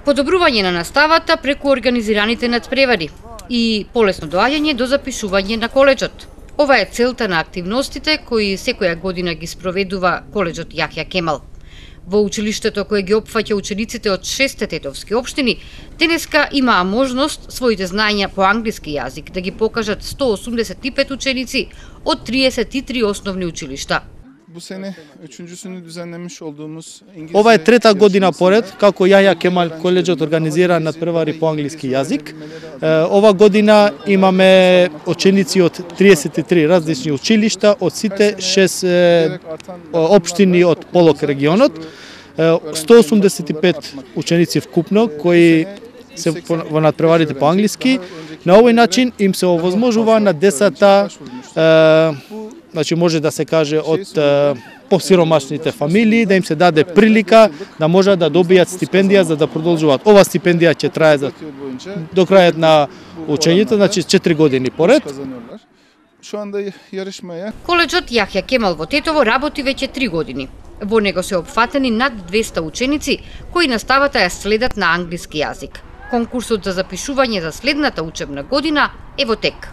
Подобрување на наставата преку организираните надпревари и полесно доаѓање до запишување на коледжот. Ова е целта на активностите кои секоја година ги спроведува коледжот Јахја Кемал. Во училиштето кое ги опфаќа учениците од 6 тетовски општини, денеска имаа можност своите знаења по англиски јазик да ги покажат 185 ученици од 33 основни училишта. Ова е трета година поред како Јахја Кемал коледжот организира надпревари по англиски јазик. Ова година имаме ученици од 33 различни училишта од сите 6 општини од Полок регионот. 185 ученици вкупно кои се во надпреварите по англиски. На овој начин им се овозможува на децата, значи може да се каже од посиромашните фамилии, да им се даде прилика да можат да добијат стипендија за да продолжуваат. Ова стипендија ќе трае до крајот на учењето, значи 4 години поред. Коледжот Јахја Кемал во Тетово работи веќе 3 години. Во него се опфатени над 200 ученици кои наставата ја следат на англиски јазик. Конкурсот за запишување за следната учебна година е во тек.